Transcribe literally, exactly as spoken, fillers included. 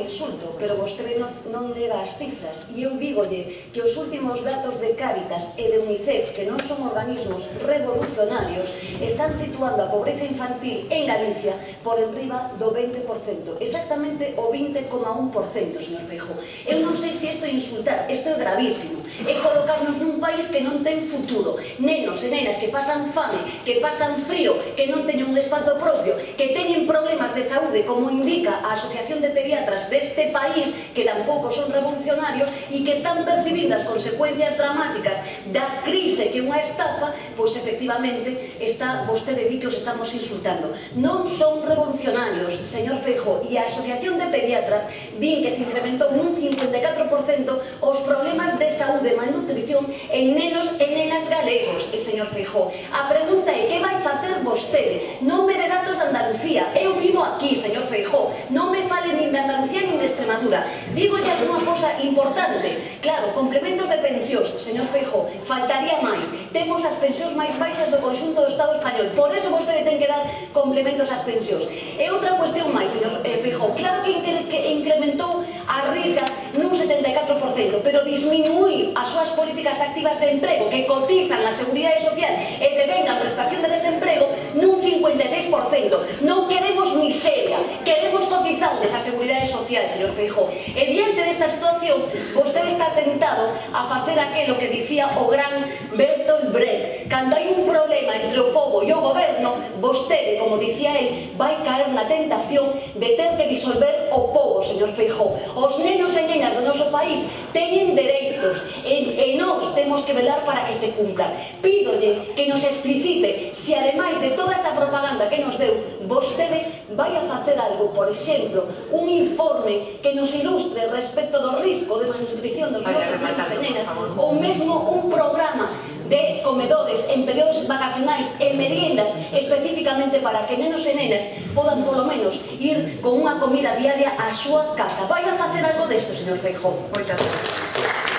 insulto, pero vostede non, non nega as cifras. E eu dígolle que os últimos datos de Cáritas e de UNICEF, que non son organismos revolucionarios, están situando a pobreza infantil en Galicia por enriba do veinte por cento, exactamente o vinte coma un por cento, señor Feijóo. Eu non sei se isto é insultar, isto é gravísimo, é colocarnos nun país que non ten futuro, nenos e nenas que pasan fame, que pasan frío, que non teñen un espazo propio, que teñen problemas de saúde, como indica a Asociación de Pediatras deste país, que tampouco son revolucionarios e que están percibindo as consecuencias dramáticas da crise que é unha estafa, pois efectivamente está, vostede di que os estamos insultando. Non son revolucionarios, señor Feijóo, e a Asociación de Pediatras din que se incrementou nun cincuenta e catro por cento os problemas de saúde e malnutrición en nenos e nenas galegos, e señor Feijóo. A pregunta é, que vai facer vostede? Non me de datos de Andalucía, eu vivo aquí, señor Feijóo, non me fale nin de Andalucía nin de Extremadura. Digo xa unha cosa importante, claro, complementos de pensións, señor Feijóo, faltaría máis. Temos as pensións máis baixas do conxunto do Estado español, por eso vostede ten que dar complementos ás pensións. E outra cuestión máis, señor Feijóo, claro que incrementou a risca nun setenta e catro por cento, pero disminuir as súas políticas activas de emprego que cotizan na Seguridade Social e devengan prestación de desemprego nun cincuenta e seis por cento. Non queremos miseria, queremos cotizantes a Seguridade Social, señor Feijóo. E diante desta situación, vostede está tentado a facer aquilo que dicía o gran Bertolt Brecht. Cando hai un problema entre o pobo e o goberno, vostede, como dicía el, vai caer na tentación de ter que disolver o pobo, señor Feijóo. Os nenos e nenas do noso país teñen dereitos e, e nós temos que velar para que se cumplan. Pídolle que nos explicite se, ademais de toda esa propaganda que nos deu, vostede vai a facer algo, por exemplo, un informe que nos ilustre respecto do risco de malnutrición dos nosos nenos e nenas, ou mesmo un programa de comedores en períodos vacacionais e meriendas especificamente para que nenos e nenas podan polo menos ir con unha comida diaria á súa casa. Vai a facer algo desto, señor Feijóo? Moitas gracias.